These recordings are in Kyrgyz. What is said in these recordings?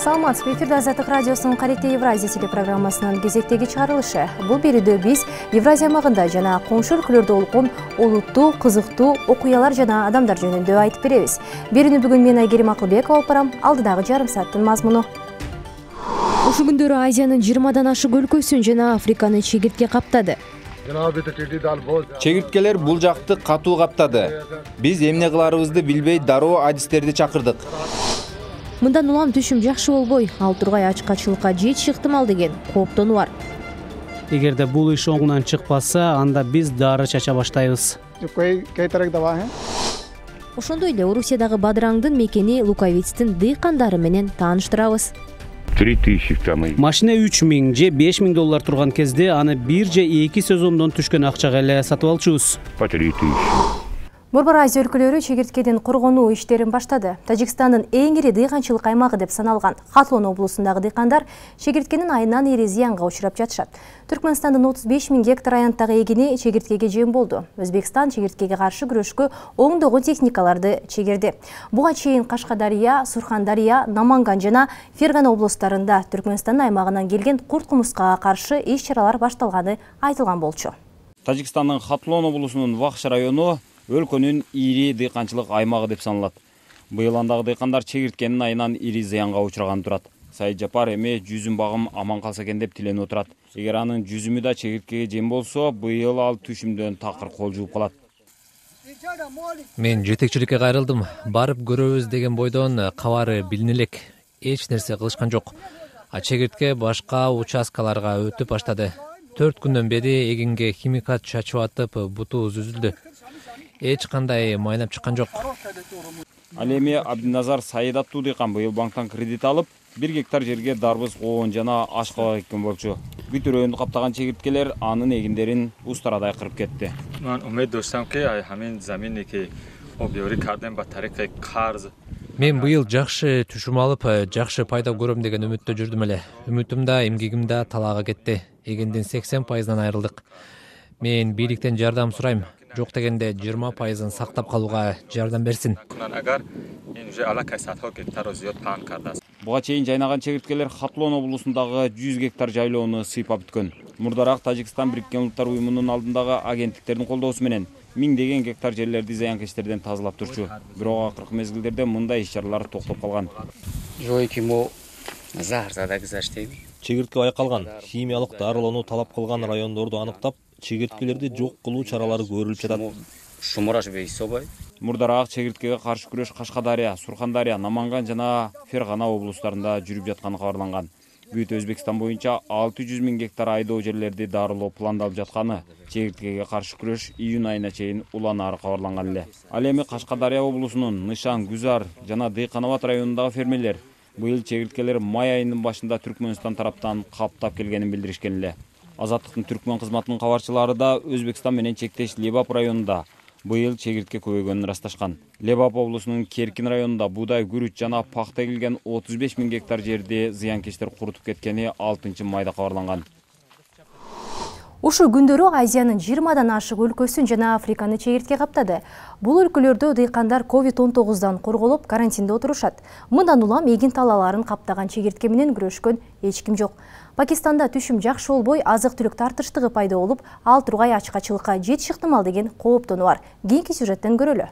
саламатсызбы. Эфирде Азаттык радиосунун Карите Евразия телепрограммасынын кезектеги чыгарылышы. Бул берүүдө биз Евразия аймагында жана коңшу өлкөлөрдө болгон олуттуу, кызыктуу окуялар жана адамдар жөнүндө айтып беребиз. Берүүнү бүгүн мен Айгерим Акылбекова алып барам. Алдыдагы жарым сааттын мазмуну. Ушул күндөрү Азиянын 20дан ашык өлкөсүн жана Африканы чегиртке каптады. Чегирткелер бул жакты катуу каптады. Биз эмне кыларыбызды билбей дароо адистерди чакырдык. Мындан улам түшүм жакшы болбой, ал тургай ачкачылыкка жетиши ыктымал деген кооптонуу бар. Эгерде бул иш оңунан чыкпаса, анда биз дары чача баштайбыз. Ошондой эле Орусиядагы Бадыраңдын мекени Луковицтин дыйкандары менен тааныштырабыз. 3000 Машина 3000 же 5000 доллар турган кезде аны 1 же 2 сезондон түшкөн акчага эле сатып алчубуз. Борбор Азия өлкөлөрү чегирткеден коргонуу иштерин баштады. Тажикстандын эң ири дыйканчылык аймагы деп саналган Хатлон облусундагы дыйкандар чегирткенин айынан ири зыянга учурап жатышат. Түркмөнстандын 35 000 гектар аянттагы эгини чегирткеге жем болду. Өзбекстан чегирткеге каршы күрөшкө оңдогон техникаларды чегирди. Буга чейин Кашкадария, Сурхандария, Наманган жана Фергана облустарында Түркмөнстандын аймагынан келген курт-кумурскага каршы иш-чаралар башталганы айтылган болчу. Тажикстандын Хатлон облусунун Вахш району өлкөнүн ири дыйканчылык аймагы деп саналат. Быйыл андагы дыйкандар чегирткенин айынан ири зыянга учураган турат. Сайыт Жапар эми 100 багым аман калса экен деп тиленип отурат. Эгер анын 100 да чегирткеге жем болсо, быйыл ал түшүмдөн такыр кол жууп калат. Мен жетекчиликке кайрылдым. Барып көрөбүз деген бойдон кабары билине элек. Эч нерсе кылышкан жок. Чегиртке башка участкаларга өтүп баштады. 4 күндөн бери эгинге химикат чачып атып, буту үзүлдү. Эч кандай майнап чыккан жок. Ал эми Абдиназар Саид аттуу дыйкан быйыл банктан кредит алып, 1 гектар жерге дарбыз, коон жана ашкабак эккен болчу. Бүт өрөөндү каптаган чегирткелер анын эгиндерин устарадай кырып кетти. Мен быйыл жакшы түшүм алып, жакшы пайда көрөм деген үмүттө жүрдүм эле. Үмүтүм да, эмгегим да талаага кетти. Эгиндин 80%-дан айрылдык. Мен бийликтен жардам сурайм. Жок дегенде 20%-ын сактап калууга жардам берсин. Буга чейин жайнаган чегирткелер Хатлон облусундагы 100 гектар жайлоону сыйпап бүткөн. Мурдараак Тажикстан Бириккен Улуттар уюмунун алдындагы агенттиктердин колдоосу менен миңдеген гектар жерлерди зыянкечтерден тазалап турчу. Бирок акыркы мезгилдерде мындай иш-чаралар токтоп калган. Чегиртке байкалган, химиялык дарылоону талап кылган райондорду аныктап, чегирткелерди жок кылуу чаралары көрүлүп жатат. Мурдараак чегирткеге каршы күрөш Кашкадария, Сурхандария, Наманган жана Фергана облустарында жүрүп жатканы кабарланган. Бүт Өзбекстан боюнча 600 000 гектар айдоо жерлерди дарылоо пландалып жатканы, чегирткеге каршы күрөш июнь айына чейин уланаары кабарланган эле. Ал эми Кашкадария облусунун Нышан, Гүзар жана Дыйканабад районундагы фермерлер быйыл чегирткелер май айынын башында Түркмөнстан тараптан каптап келгенин билдиришкен эле. Азаттыктын түркмөн кызматынын кабарчылары да Өзбекстан менен чектеш Лебап районунда быйыл чегиртке көбөйгөнүн ырасташкан. Лебап облусунун Керкин районунда буудай, күрүч жана пахта эгилген 35 000 гектар жерди зыянкечтер курутуп кеткени 6 майда кабарланган. Ушул күндөрү Азиянын 20дан ашык өлкөсүн жана Африканы чегиртке каптады. Бул өлкөлөрдө дыйкандар COVID-19 корголуп, карантинде отурушат. Мындан улам эгин талааларын каптаган чегиртке менен күрөшкөн эч ким жок. Пакистанда түшүм жакшы болбой, азык-түлүк тартыштыгы пайда болуп, ал тургай ачкачылыкка жетиши ыктымал деген кооптонуу бар. Кийинки сюжеттен көрөлү.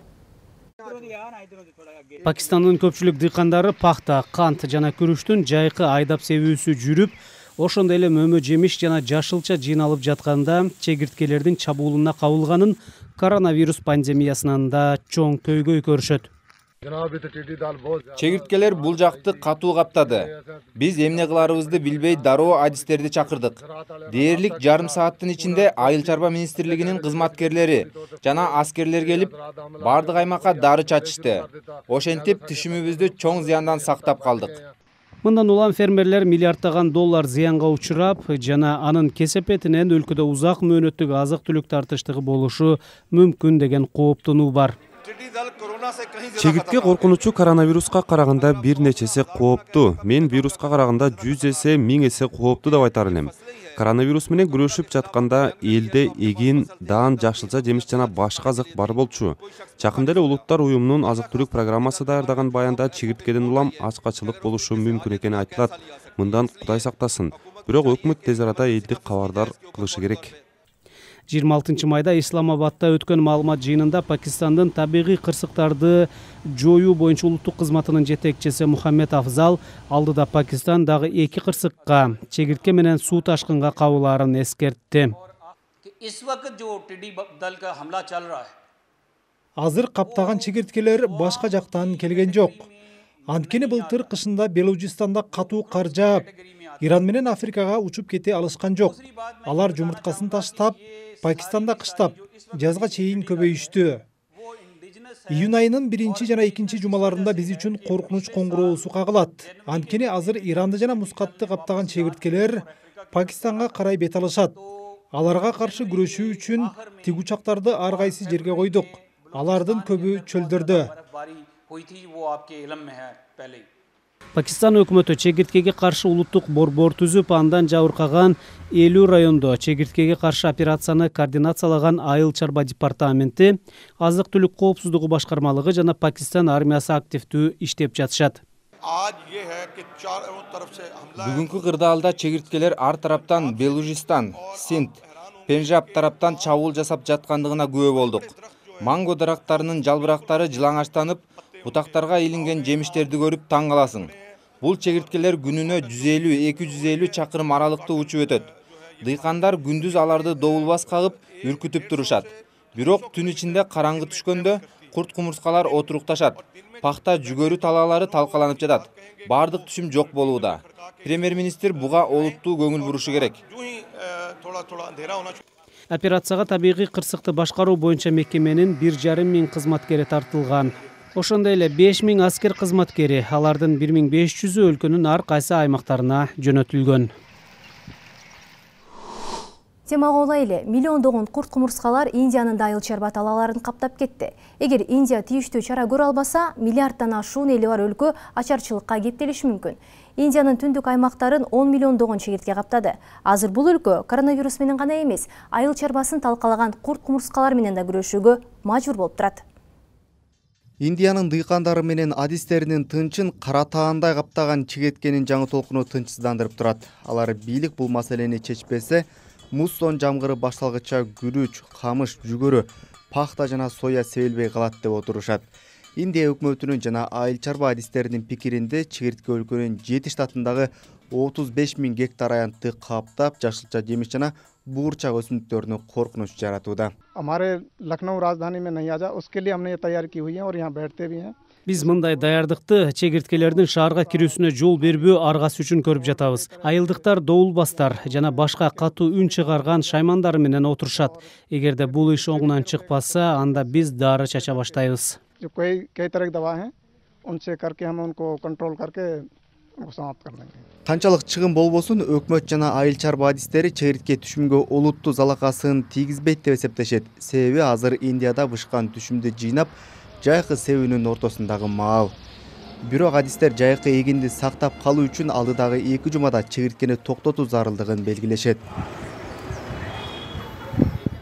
Пакистандын көпчүлүк дыйкандары пахта, кант жана күрүчтүн жайкы айдап себүүсү жүрүп, ошондой эле мөмө жемиш жана жашылча жыйналып жатканда чегирткелердин чабуулуна кабылганын коронавирус пандемиясынан да чоң көйгөй көрүшөт. Чегирткелер бул жакты катуу каптады. Биз эмне кыларыбызды билбей дароо адистерди чакырдык. Дээрлик жарым сааттын ичинде Айыл чарба министрлигинин кызматкерлери жана аскерлер келип, бардык аймакка дары чачышты. Ошентип түшүмүбүздү чоң зыяндан сактап калдык. Мындан улам фермерлер миллиарддаган доллар зыянга учурап жана анын кесепетинен өлкөдө узак мөөнөттүк азык-түлүк тартыштыгы болушу мүмкүн деген кооптонуу бар. Чегиртке коркунучу коронавируска караганда бир нечеси кооптуу. Мен вируска караганда 100 эсе, 1000 эсе кооптуу деп айтар элем. Коронавирус менен күрөшүп жатканда элде эгин, даан, жашылча жемиш жана башка азык бар болчу. Жакында эле Улуттар уюмунун азык-түлүк программасы даярдаган баянда чегирткеден улам ачкачылык болушу мүмкүн экени айтылат. Мындан Кудай сактасын. Бирок өкмөт тез арада элди кабардар кылышы керек. 26 майда Исламабадда өткөн маалымат жыйынында Пакистандын табигый кырсыктарды жоюу боюнча улуттук кызматынын жетекчиси Мухаммед Афзал алдыда Пакистан дагы 2 кырсыкка, чегиртке менен суу ташкынга кабылаарын эскертти. Азыр каптаган чегирткелер башка жактан келген жок. Анткени былтыр кышында Белужистанда катуу кар жаап, Иран менен Африкага учуп кете алышкан жок. Алар жумурткасын таштап, Пакистанда кыштап, жазга чейин көбөйүштү. Июнь айынын 1 жана 2 жумаларында биз үчүн коркунуч коңгуроосу кагылат. Анткени азыр Иранды жана мускатты каптаган чегирткелер Пакистанга карай бет алышат. Аларга каршы күрөшүү үчүн тигучактарды ар кайсы жерге койдук. Алардын көбү чөлдөрдө. Пакистан өкмөтү чегирткеге каршы улуттук борбор түзүп, андан жабыркаган 50 райондо чегирткеге каршы операцияны координациялаган Айыл чарба департаменти, азык-түлүк коопсуздугу башкармалыгы жана Пакистан армиясы активдүү иштеп жатышат. Бүгүнкү кырдаалда чегирткелер ар тараптан Белужистан, Синд, Пенжаб тараптан чабуул жасап жаткандыгына күбө болдук. Манго дарактарынын жалбырактары жылаңачтанып, бутактарга илинген жемиштерди көрүп таң каласың. Бул чегирткелер күнүнө 150-250 чакырым аралыкты учуп өтөт. Дыйкандар күндүз аларды добулбас кагып, үркүтүп турушат. Бирок түн ичинде караңгы түшкөндө курт-кумурскалар отурукташат. Пахта жүгөрү талаалары талкаланып жатат. Бардык түшүм жок болууда. Премьер-министр буга олуттуу көңүл бурушу керек. Операцияга табигый кырсыкты башкаруу боюнча мекеменин 1,5 миң кызматкери тартылган. Ошондой эле 5000 аскер кызматкери, алардын 1500-ü өлкөнүн ар кайсы аймактарына жөнөтүлгөн. Темага улай эле миллиондогон курт-кумурскалар Индиянын айыл чарба талааларын каптап кетти. Эгер Индия тийиштүү чара көрө албаса, миллиарддан ашуун эли бар өлкө ачарчылыкка кептелиши мүмкүн. Индиянын түндүк аймактарын 10 миллиондогон чегиртке каптады. Азыр бул өлкө коронавирус менен гана эмес, айыл чарбасын талкалаган курт-кумурскалар менен да күрөшүүгө мажбур болуп турат. Индиянын дыйкандары менен адистеринин тынчын кара таандай каптаган чегирткенин жаңы толкуну тынчсыздандырып турат. Алар бийлик бул маселени чечпесе, муссон жамгыры башталгыча күрүч, камыш, жүгөрү, пахта жана соя себилбей калат деп отурушат. Индия өкмөтүнүн жана айыл чарба адистеринин пикиринде чегиртке өлкөнүн 7 штатындагы 35 000 гектар аянтты каптап, жашылча жемиш жана буурчак өсүмдүктөрүнө коркунуч жаратууда. हमारे लखनऊ राजधानी में नहीं आ जा, उसके लिए हमने ये तैयारी की हुई है और यहाँ बैठते भी हैं. Биз мындай даярдыкты чегирткелердин шаарга кирүүсүнө жол бербөө аргасы үчүн көрүп жатабыз. Айылдыктар доулбастар жана башка катуу үн чыгарган шаймандар менен отурушат. Эгерде бул иш оңунан чыкпаса, анда биз дары чача баштайбыз. जो कई तरह की दवा हैं, उनसे करके हम उनको कंट्रोल करके समाप्त कर देंगे. Канчалык чыгым болбосун, өкмөт жана айыл чарба адистери чегиртке түшүмгө олуттуу залакасын тийгизбейт деп эсептешет. Себеби азыр Индияда бышкан түшүмдү жыйнап, жайкы себүүнүн ортосундагы маал. Бирок адистер жайкы эгинди сактап калуу үчүн алдыдагы 2 жумада чегирткени токтотуу зарылдыгын белгилешет.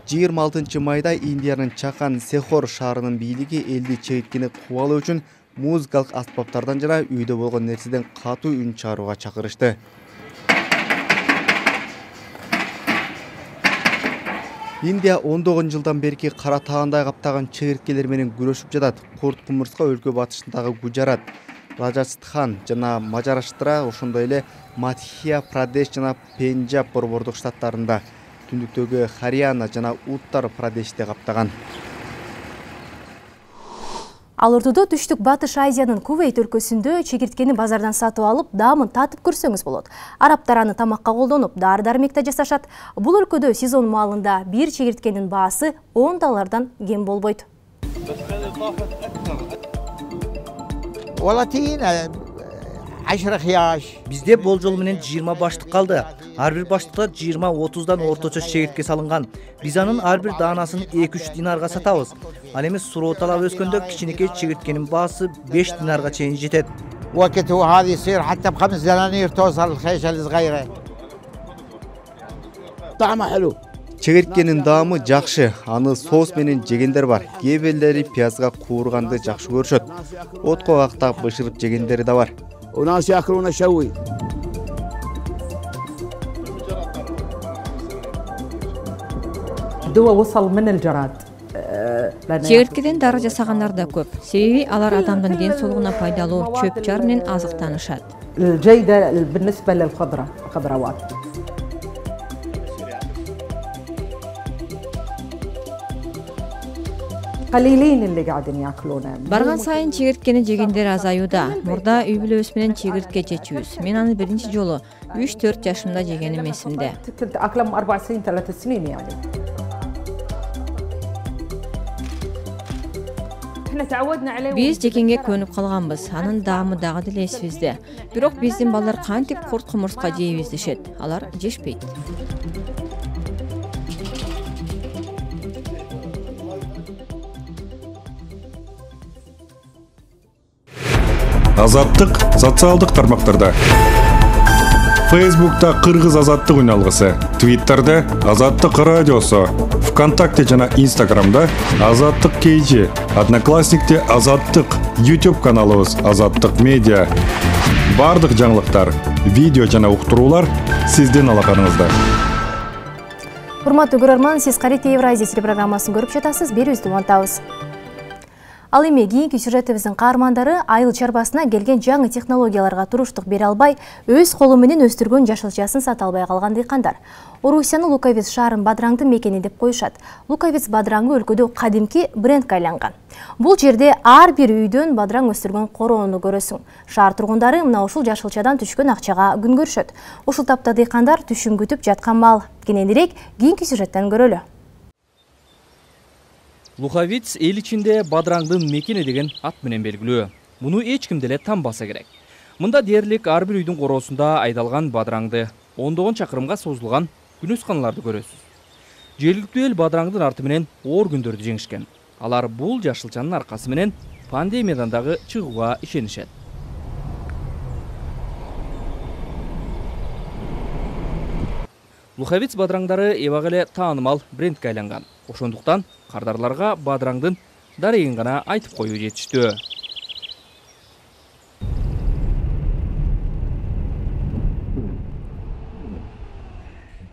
26 майда Индиянын Чахан Сехор шаарынын бийлиги элди чегирткени кубалоо үчүн музыкалык аспаптардан жана үйдө болгон нерседен катуу үн чыгарууга чакырышты. Индия 10 жылдан берки кара таандай каптаган чегирткелер менен күрөшүп жатат. Курт-кумурска өлкө батышындагы Гуджарат, Раджастхан жана Мажараштра, ошондой эле Мадхья Прадеш жана Пенджаб борбордук штаттарында, түндүктөгү Харьяна жана Уттар Прадеште каптаган. Ал ортодо түштүк Батыш Азиянын Кувейт өлкөсүндө чегирткени базардан сатып алып, даамын татып көрсөңүз болот. Араптар аны тамакка колдонуп, дары-дармекте жасашат. Бул өлкөдө сезон маалында бир чегирткенин баасы $10 кем болбойт. 10 خياش. Бизде болжол менен 20 баштык калды. Ар бир баштыкта 20-30дан орточо чегиртке салынган. Биз анын ар бир даанасын 2-3 динарга сатабыз. Ал эми суроо талап өскөндө кичинекей чегирткенин баасы 5 динарга чейин жетет. وقت وهذا يصير حتى ب5 دنانير توصل الخيشه الصغيره. طعمه حلو. Чегирткенин даамы жакшы, аны соус менен жегендер бар. Кээ бирлери пиязга куурганды жакшы көрүшөт. Отко кактап бышырып жегендери да бар. وناس ياكلونه شوي. الدواء وصل من الجراد. Чегирткеден дары жасагандар да көп. Себеби алар адамдын ден соолугуна пайдалуу чөп жар менен азыктанышат. الجيدة بالنسبة للخضروات. قليلين اللي قاعدين ياكلونه. Барган сайын чегирткени жегендер азаюуда. Мурда үй бүлөбүз менен чегиртке жечүбүз. Мен аны биринчи жолу 3-4 жашымда жегеним эсимде. أكلهم 4 سنين 3 سنين يعني. Биз жекенге көнүп калганбыз. Анын даамы дагы деле эсибизде. Бирок биздин балдар кантип курт кумурска жейбиз дешет. Алар жешпейт. Азаттык социалдык тармактарда. Facebook'ta Кыргыз азаттык үналгысы, Twitter'da Азаттык радиосу, ВКонтакте жана Instagram'da Азаттык KG, Одноклассникте Азаттык, YouTube каналыбыз Азаттык медиа. Бардык жаңылыктар, видео жана уктуруулар сиздин алаканыңызда. Урматтуу көрөрман, сиз Карите Евразия телепрограммасын көрүп жатасыз. Берүүбүздү улантабыз. Ал эми кийинки сюжетибиздин каармандары айыл чарбасына келген жаңы технологияларга туруштук бере албай, өз колу менен өстүргөн жашылчасын сата албай калган дыйкандар. Орусиянын Луковец шаарын Бадраңдын мекени деп коюшат. Луковец Бадраңы өлкөдө кадимки брендке айланган. Бул жерде ар бир үйдөн бадраң өстүргөн короону көрөсүң. Шаар тургундары мына ушул жашылчадан түшкөн акчага күн көрүшөт. Ушул тапта дыйкандар түшүм күтүп жаткан мал. Кененирээк кийинки сюжеттен көрөлү. Луковец эл ичинде Бадраңдын мекени деген ат менен белгилүү. Муну эч ким деле танбаса керек. Мында дээрлик ар бир үйдүн короосунда айдалган бадраңды, ондогон чакырымга созулган күнөсканаларды көрөсүз. Жергиликтүү эл Бадраңдын арты менен оор күндөрдү жеңишкен. Алар бул жашылчанын аркасы менен пандемиядан дагы чыгууга ишенишет. Луковец бадраңдары эбак эле таанымал брендке айланган. Ошондуктан кардарларга бадраңдын дарегин гана айтып коюу жетиштүү.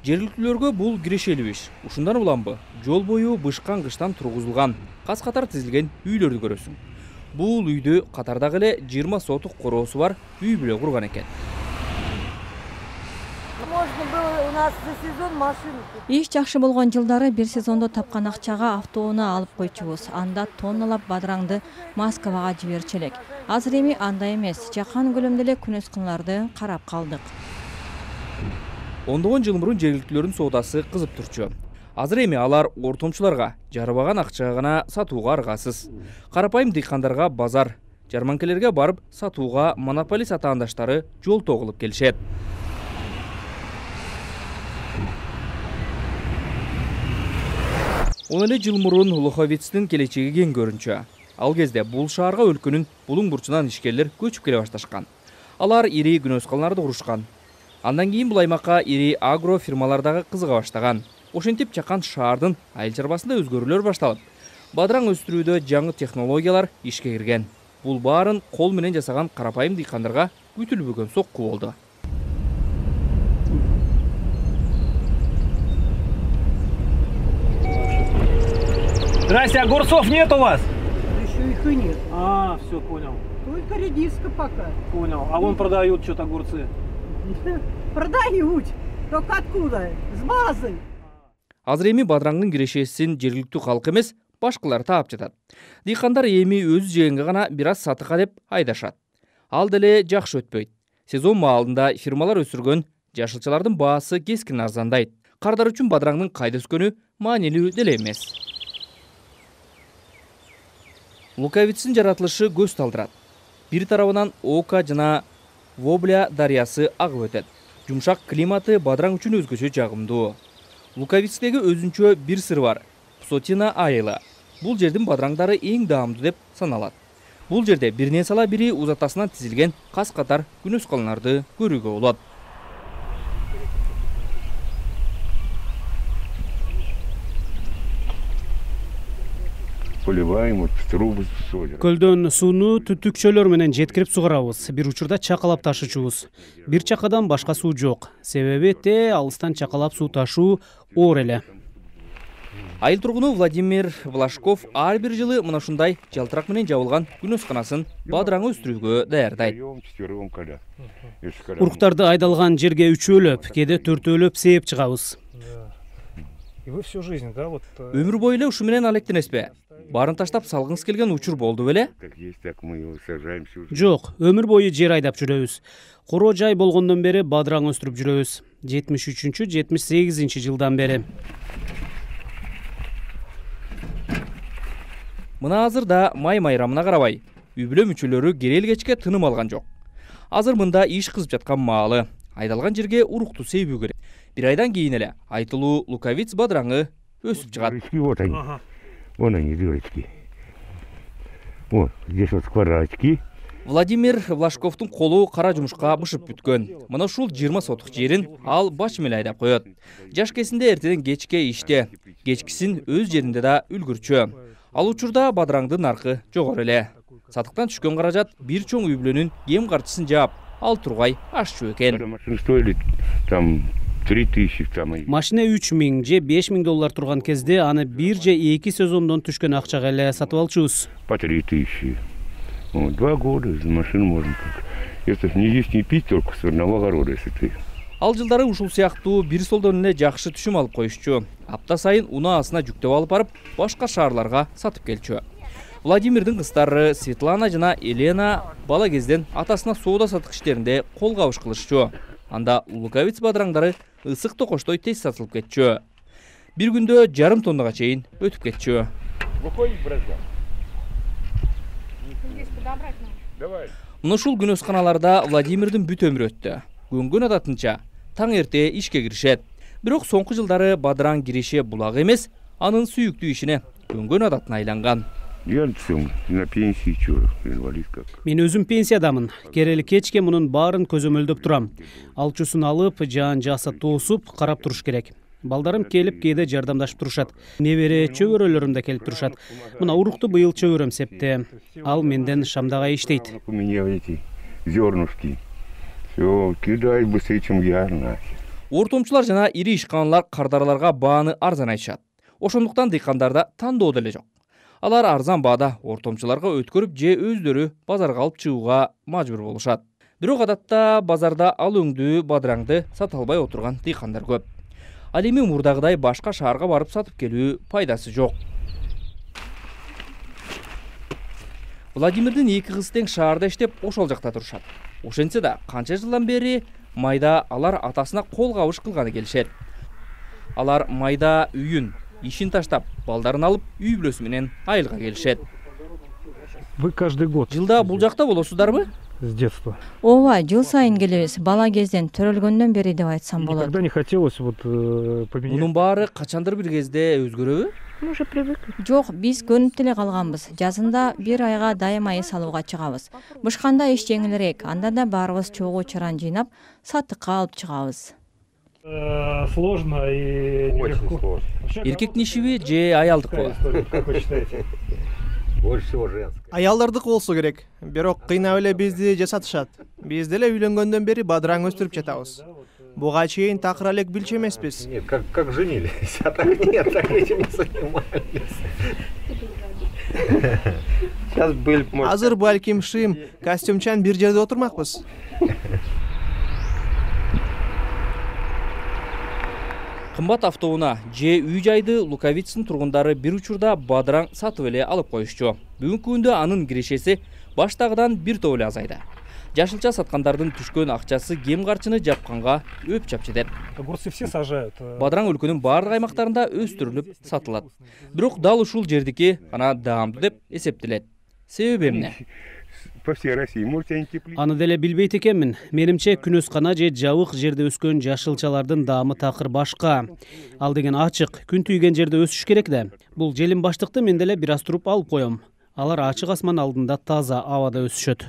Жергиликтүүлөргө бул кирешелүү иш. Ушундан уламбы, жол бою бышкан кыштан тургузулган, кас-катар тизилген үйлөрдү көрөсүң. Бул үйдү катардагы эле 20 сотук короосу бар үй бүлө курган экен. Иш жакшы болгон жылдары бир сезондо тапкан акчага автоунаа алып койчубуз. Анда тонналап бадраңды Москвага жиберчү элек. Азыр эми андай эмес. Жакан көлөмдө эле күнөсканаларды карап калдык. Ондогон жыл мурун жергиликтүүлөрдүн соодасы кызып турчу. Азыр эми алар ортомчуларга жарыбаган акчага гана сатууга аргасыз. Карапайым дыйкандарга базар, жарманкелерге барып сатууга монополист атаандаштары жолтоо кылып келишет. Он эле жыл мурун Луковецтин келечеги кең көрүнчү. Ал кезде бул шаарга өлкөнүн булуң бурчунан ишкерлер көчүп келе башташкан. Алар ири күнөсканаларды курушкан. Андан кийин бул аймакка ири агро фирмалар дагы кызыга баштаган. Ошентип жакан шаардын айыл чарбасында өзгөрүүлөр башталып, бадраң өстүрүүдө жаңы технологиялар ишке кирген. Бул баарын кол менен жасаган карапайым дыйкандарга күтүлбөгөн сокку болду. Здрасте, огурцов нет у вас? Еще их и нет. Все, понял. Только редиска пока. Понял. А вон продают что-то огурцы. Продают. Только откуда? С базы. Азыр эми бадраңдын кирешесин жергиликтүү калк эмес, башкалар таап жатат. Дыйкандар эми өзү жегенге гана бир аз сатыкка деп айдашат. Ал деле жакшы өтпөйт. Сезон маалында фирмалар өсүргөн жашылчалардын баасы кескин арзандайт. Кардар үчүн бадраңдын кайда өскөнү маанилүү деле эмес. Луковецтин жаратылышы көз талдырат. Бир тарабынан ока жана Вобля дарыясы агып өтөт. Жумшак климаты бадыраң үчүн өзгөчө жагымдуу. Луковицтеги өзүнчө бир сыр бар. Псотина айылы. Бул жердин бадыраңдары эң даамдуу деп саналат. Бул жерде биринен сала бири узатасынан тизилген кас катар күнөс калыналарды көрүүгө болот. Көлдөн сууну түтүкчөлөр менен жеткирип сугарабыз. Бир учурда чакалап ташычубуз. Бир чакадан башка суу жок. Себеби алыстан чакалап суу ташуу оор эле. Айыл тургуну Владимир Влашков ар бир жылы мына ушундай жалтырак менен жабылган күнөсканасын бадыраңы өстүрүүгө даярдайт. Уруктарды айдалган жерге үчөөлөп, кээде төртөөлөп сээп чыгабыз. Өмүр бою эле ушу менен алектенесизби? Барын таштап салгыңыз келген учур болду беле? Жок, өмүр бою жер айдап жүрөбүз. Короо жай болгондон бери бадыраң өстүрүп жүрөбүз. 73-78 жылдан бери. Мына азыр да май майрамына карабай, үй-бүлө мүчөлөрү керел кечке тыным алган жок. Азыр мында иш кызып жаткан маалы. Айдалган жерге урукту сейбүү керек. Бир айдан кийин эле айтылуу луковиц бадыраңы өсүп чыгат. Вон они, дырочки. Вот, здесь вот скворачки. Владимир Влашковдун колу кара жумушка бышып бүткөн. Мына ушул 20 сотук жерин ал баш менен айдап коет. Жаш кезинде эртеден кечке иште, кечкисин өз жеринде да үлгүрчү. Ал учурда бадыраңдын наркы жогору эле. Сатыктан түшкөн каражат бир чоң үй-бүлөнүн кем карчысын жаап, ал тургай ашчу экен. Машина 3000 же 5000 доллар турган кезде аны 1 же 2 сезондон түшкөн акчага эле сатып алчубуз. По 3000. 2 года машину можно. Это не есть не пить только с одного огорода, если ты. Ал жылдары ушул сыяктуу бир солдон эле жакшы түшүм алып коюшчу. Апта сайын унаасына жүктөп алып барып, башка шаарларга сатып келчү. Владимирдин кыздары Светлана жана Елена бала кезден атасына соода сатык иштеринде кол кабыш кылышчу. Анда луковиц бадыраңдары ысык токоштой тез сатылып кетчү. Бир күндө 1,5 тоннага чейин өтүп кетчү. Мына ушул күнөсканаларда Владимирдин бүт өмүрү өттү. Көнгөн адатынча таң эрте ишке киришет. Бирок соңку жылдары бадыраң киреше булак эмес, анын сүйүктүү ишине көнгөн адатына айланган. На пенсии инвалид как. Мен өзүм пенсиядамын. Керели кечке мунун баарын көзөмөлдөп турам. Алчусын алып, жаан жаса тоосуп, карап туруш керек. Балдарым келип кээде жардамдашып турушат. Небере чөбөрөлөрүм да келип турушат. Мына урукту быйыл чөбөрөм септи. Ал менден шамдага иштейт. У меня эти зернышки. Всё, кидай быстрее, чем я. Ортомчулар жана ири ишканалар кардараларга бааны арзан айтышат. Ошондуктан дыйкандарда тандоо деле жок. Алар арзан баада ортомчуларга өткөрүп же өздөрү базарга алып чыгууга мажбур болушат. Бирок адатта базарда ал өңдүү бадыраңды сата албай отурган дыйкандар көп. Ал эми мурдагыдай башка шаарга барып сатып келүү пайдасы жок. Владимирдин 2 кызы тең шаарда иштеп ошол жакта турушат. Ошентсе да канча жылдан бери майда алар атасына кол кабыш кылганы келишет. Алар майда үйүн, ишин таштап, балдарын алып, үй бүлөсү менен айылга келишет. Вы каждый год. Жылда бул жакта болосуздарбы? С детства. Ооба, жыл сайын келебиз. Бала кезден төрөлгөндөн бери деп айтсам болот. Никогда не хотелось поменять. Мунун баары качандыр бир кезде өзгөрөбү? Мы уже привыкли. Жок, биз көнүп деле калганбыз. Жазында бир айга дайым айы салууга чыгабыз. Бышканда иш жеңилирээк. Анда да баарыбыз чогуу чаран жыйнап, сатыкка алып чыгабыз. Сложно и нелегко. Эркектин ишиби же аялдыкы? Как вы считаете? Больше всего женское. Аялдардыкы болсо керек. Бирок кыйнап эле бизди жасатышат. Биз деле үйлөнгөндөн бери бадыраң өстүрүп жатабыз. Буга чейин такыр элек билчү эмеспиз. Нет, как женились. А так нет, так этим не занимались. Сейчас были, может. Азыр балким шым, костюмчан бир жерде отурмакпыз. Кымбат автоунаа же үй жайды Луковицтин тургундары бир учурда бадыраң сатып эле алып коюшчу. Бүгүнкү күндө анын кирешеси баштагыдан бир топ эле азайды. Жашылча саткандардын түшкөн акчасы кем карчыны жапканга өп чапчы. Огурцы все сажают. Бадыраң өлкөнүн баардык аймактарында өстүрүлүп сатылат. Бирок дал ушул жердики гана даамдуу деп эсептелет. Себеби эмне? по всей России. Можете они теплее. Аны деле билбейт экенмин. Менимче күнөскана же жабык жерде өскөн жашылчалардын даамы такыр башка. Ал деген ачык, күн түйгөн жерде өсүш керек да. Бул желим баштыкты мен деле бир аз туруп алып коем. Алар ачык асман алдында таза абада өсүшөт.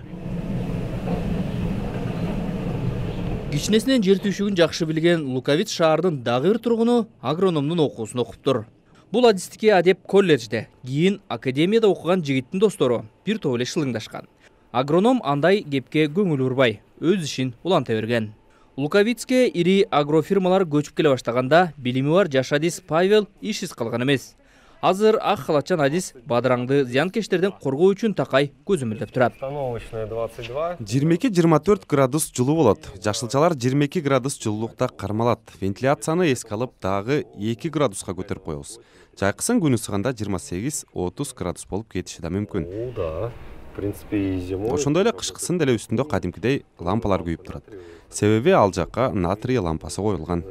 Кичинесинен жер түйшүгүн жакшы билген Луковиц шаарынын дагы бир тургуну агрономдун окуусун окуптур. Бул адистикке адеп колледжде, кийин академияда окуган жигиттин достору бир топ эле шылыңдашкан. Агроном андай кепке көңүл бурбай, өз ишин уланта берген. Луковицке ири агрофирмалар көчүп келе баштаганда билими бар жаш адис Павел ишсиз калган эмес. Азыр ак халатчан адис бадыраңды зыянкечтерден коргоо үчүн такай көзөмөлдөп турат. 22-24 градус жылуу болот. Жашылчалар 22 градус жылуулукта кармалат. Вентиляцияны эске алып дагы 2 градуска көтөрүп коебуз. Жайкысын күн ысыганда 28-30 градус болуп кетиши да мүмкүн. Да, в принципе, и зимой. Ошондой эле кышкысын деле үстүндө кадимкидей лампалар күйүп турат. Себеби ал жакка натрий лампасы коюлган.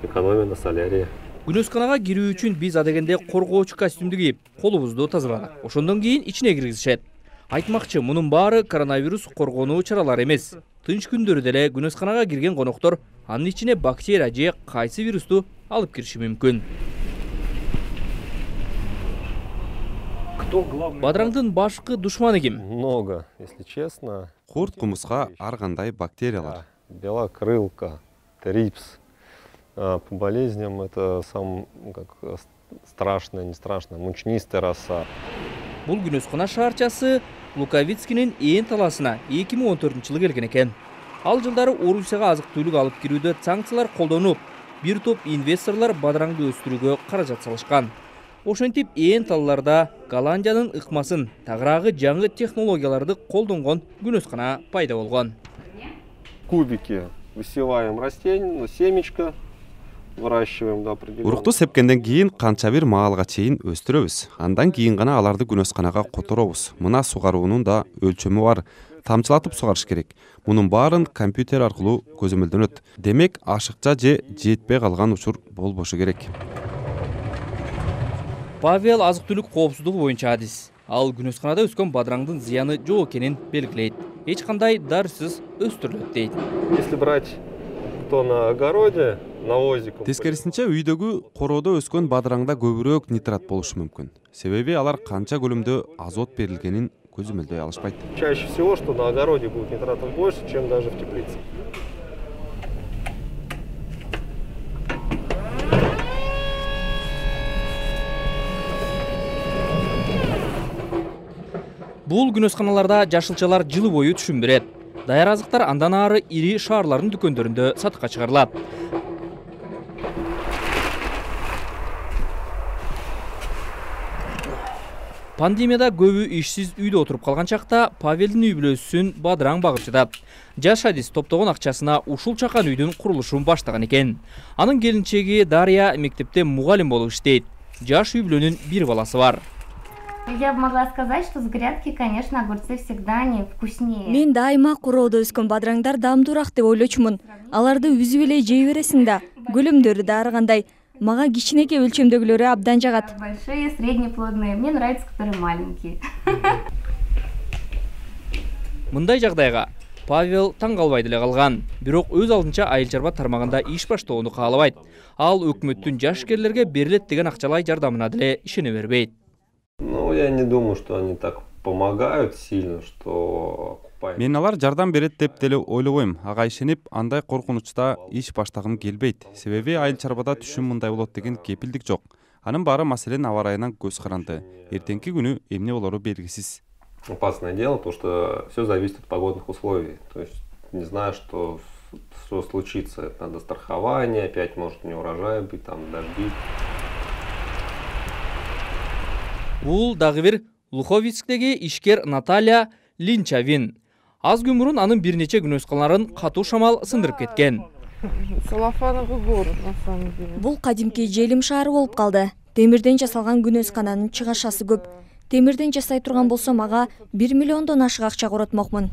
Экономия на солярии. Күнөсканага кирүү үчүн биз адегенде коргоочу костюмду кийип, колубузду тазаладык. Ошондон кийин ичине киргизишет. Айтмакчы, мунун баары коронавирус коргонуу чаралары эмес. Тынч күндөрү деле күнөсканага кирген коноктор анын ичине бактерия же кайсы вирусту алып кириши мүмкүн. Бадыраңдын башкы душманы ким? Много, если честно. Курт, кумуска, ар кандай бактериялар. Белокрылка, трипс. По болезням это сам страшно, не страшно, мучнистая роса. Бул күнөскана шаарчасы Луковицкинин ээн таласына 2014-жылы келген экен. Ал жылдары Орусияга азык түлүк алып кирүүдө санкциялар колдонуп, бир топ инвесторлор бадыраңды өстүрүүгө каражат салышкан. Ошентип ээн талларда Голландиянын ыкмасын, тагыраагы жаңы технологияларды колдонгон күнөскана пайда болгон. Кубики высеваем растение, семечко. Урукту сепкенден кийин канча бир маалга чейин өстүрөбүз. Андан кийин гана аларды күнөсканага которобуз. Мына сугаруунун да өлчөмү бар. Тамчылатып сугарыш керек. Мунун баарын компьютер аркылуу көзөмөлдөнөт. Демек, ашыкча же жетпей калган учур болбошу керек. Павел азык-түлүк коопсуздугу боюнча адис. Ал күнөсканада өскөн бадыраңдын зыяны жок экенин белгилейт. Эч кандай дарысыз өстүрүлөт дейт. Если брать на огороде, Тескерисинче үйдөгү короодо өскөн бадыраңда көбүрөөк нитрат болушу мүмкүн. Себеби алар канча көлөмдө азот берилгенин көзөмөлдөй алышпайт. Чаще всего, что на огороде будет нитратов больше, чем даже в теплице. Бул күнөсканаларда жашылчалар жылы бою түшүм берет. Даяр азыктар андан ары ири шаарлардын дүкөндөрүндө сатыкка чыгарылат. Пандемияда көбү ишсиз үйдө отуруп калган чакта Павелдин үй бүлөсүн бадыраң багып жатат. Жаш адис топтогон акчасына ушул чакан үйдүн курулушун баштаган экен. Анын келинчеги Дарья мектепте мугалим болуп иштейт. Жаш үй бүлөнүн бир баласы бар. Я бы могла сказать, что с грядки, конечно, огурцы всегда они вкуснее. Мен дайыма короодо өскөн бадыраңдар даамдуураак деп ойлочумун. Аларды үзүп эле жей бересиң да, көлөмдөрү да ар кандай. Мага кичинекей өлчөмдөгүлөрү абдан жагат. Большие, среднеплодные. Мне нравятся, которые маленькие. Мындай жагдайга Павел таң калбай деле калган. Бирок өз алдынча айыл чарба тармагында иш баштоону каалабайт. Ал өкмөттүн жашкерлерге берилет деген акчалай жардамына деле ишене бербейт. Ну, я не думаю, что они так помогают сильно, что... Мен алар жардам берет деп деле ойлобойм. Ага ишенип, андай коркунучта иш баштагым келбейт. Себеби айыл чарбада түшүм мындай болот деген кепилдик жок. Анын баары маселен аба ырайынан көз каранды. Эртеңки күнү эмне болору белгисиз. Опасное дело, потому что все зависит от погодных условий. То есть не знаю, что случится. Надо страхование, опять может не урожай быть, там дожди. Бул дагы бир Луховицктеги ишкер Наталья Линчавин. Аз күн мурун анын бир нече күнөскаларын катуу шамал сындырып кеткен. Салафановый город, на самом деле. Бул кадимки желим шаары болуп калды. Темирден жасалган күнөскананын чыгашасы көп. Темирден жасай турган болсом ага 1 миллиондон ашык акча коротмокмун.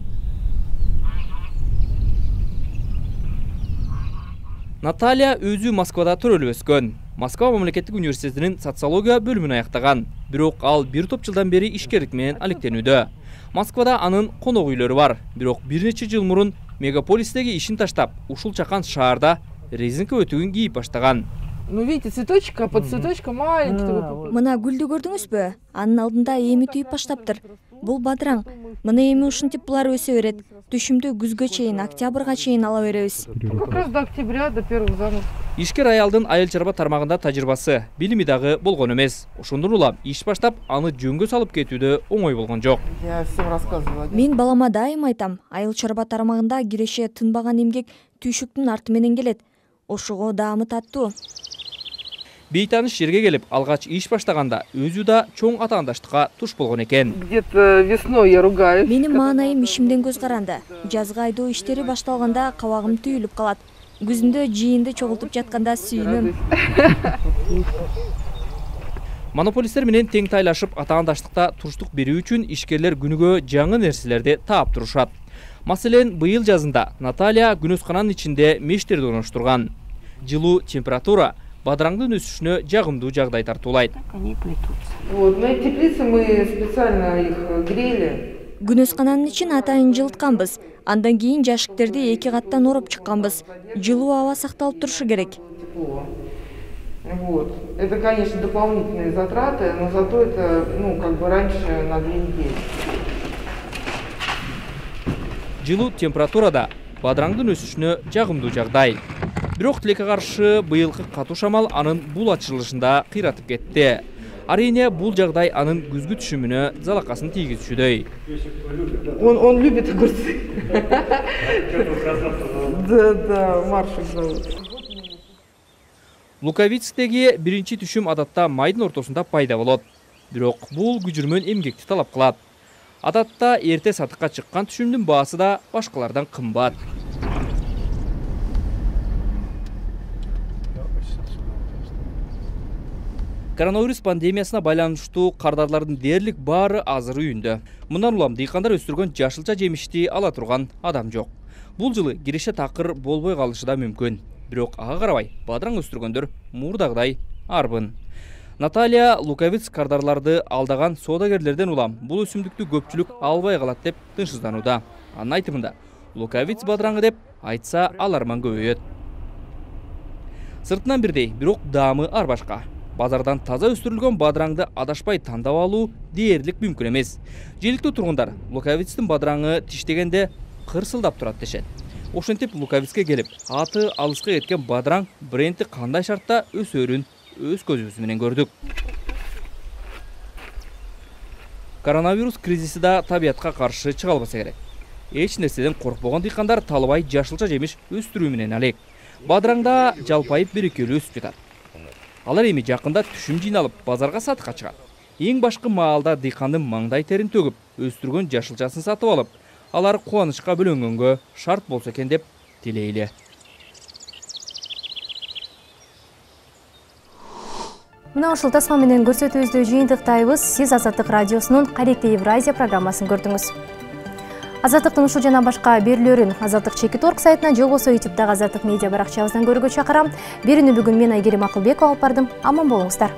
Наталья өзү Москвада төрөлүп өскөн. Москва мамлекеттик университетинин социология бөлүмүн аяктаган. Бирок ал бир топ жылдан бери ишкерлик менен алектенүүдө. Москвада анын конок үйлөрү бар. Бирок бир нече жыл мурун мегаполистеги ишин таштап, ушул чакан шаарда резинка өтүгүн кийип баштаган. Ну, видите, цветочек, а под цветочком маленький. Мына гүлдү көрдүңүзбү? Анын алдында эми түйүп баштаптыр. Бул бадыраң. Мына эми ушинтип булар өсө берет. Түшүмдү күзгө чейин, октябрга чейин ала беребиз. Как раз до октября, до первых заморозков. Ишкер аялдын айыл чарба тармагында тажрыйбасы, билими дагы болгон эмес. Ошондон улам иш баштап, аны жөнгө салып кетүүдө оңой болгон жок. Я всем рассказывала. Мен балама дайым айтам, айыл чарба тармагында киреше тынбаган эмгек түйшүктүн арты менен келет. Ошого даамы таттуу. Бейтаныш жерге келип, алгач иш баштаганда өзү да чоң атаандаштыкка туш болгон экен. Где-то весной я ругаюсь. Менин маанайым ишимден көз каранды. Жазга айдоо иштери башталганда кабагым түйүлүп калат. Күзүндө жыйынды чогултуп жатканда сүйүнөм. Монополисттер менен тең тайлашып атаандаштыкта туруштук берүү үчүн ишкерлер күнүгө жаңы нерселерди таап турушат. Маселен, быйыл жазында Наталья күнөскананын ичинде мештерди орноштурган. Жылуу температура бадыраңдын өсүшүнө жагымдуу жагдай тартуулайт. Вот, на теплице мы специально их грели. Күнөскананын ичин атайын жылытканбыз. Андан кийин жашиктерди 2 каттан ороп чыкканбыз. Жылуу аба сакталып турушу керек. Вот. Это, конечно, дополнительные затраты, но зато это, как бы раньше на 2 недели. Жылуу температурада бадыраңдын өсүшүнө жагымдуу жагдай. Бирок тилекке каршы быйылкы катуу шамал анын бул ачылышында кыйратып кетти. Арине бул жагдай анын күзгү түшүмүнө залакасын тийгизүүчүдөй. Он любит огурцы. Да, Маршик зовут. Луковицктеги биринчи түшүм адатта майдын ортосунда пайда болот. Бирок бул күжүрмөн эмгекти талап кылат. Адатта эрте сатыкка чыккан түшүмдүн баасы да башкалардан кымбат. Коронавирус пандемиясына байланыштуу кардарлардын дээрлик баары азыр үйүндө. Мындан улам дыйкандар өстүргөн жашылча жемишти ала турган адам жок. Бул жылы киреше такыр болбой калышы да мүмкүн. Бирок ага карабай, бадыраң өстүргөндөр мурдагыдай арбын. Наталья Луковиц кардарларды алдаган соодагерлерден улам бул өсүмдүктү көпчүлүк албай калат деп тынчсызданууда. Анын айтымында, Луковиц бадыраңы деп айтса аларман көбөйөт. Сыртынан бирдей, бирок даамы ар башка. Базардан таза өстүрүлгөн бадыраңды адашпай тандап алуу дээрлик мүмкүн эмес. Жергиликтүү тургундар Луковицтин бадыраңы тиштегенде кырсылдап турат дешет. Ошентип Луковицке келип, аты алыска кеткен бадыраң бренди кандай шартта өсөрүн өз көзүбүз менен көрдүк. Коронавирус кризиси да табиятка каршы чыга албаса керек. Эч нерседен коркпогон дыйкандар талабай жашылча жемиш өстүрүү менен алек. Бадыраңда жалпайып берекелүү өсүп жатат. Алар эми жакында түшүм жыйналып, базарга сатыкка чыгат. Эң башкы маалда дыйкандын маңдай терин төгүп, өстүргөн жашылчасын сатып алып, алар кубанычка бөлөнгөнгө шарт болсо экен деп тилейли. Мына ушул тасма менен көрсөтүүбүздү жыйынтыктайбыз. Сиз Азаттык радиосунун Каректе Евразия программасын көрдүңүз. Азаттыктын ушул жана башка берүүлөрүн Азаттык Чекит.org сайтынан же болбосо YouTube'дагы Азаттык медиа баракчабыздан көрүүгө чакырам. Берүүнү бүгүн мен Айгерим Акылбекова алып бардым. Аман болуңуздар.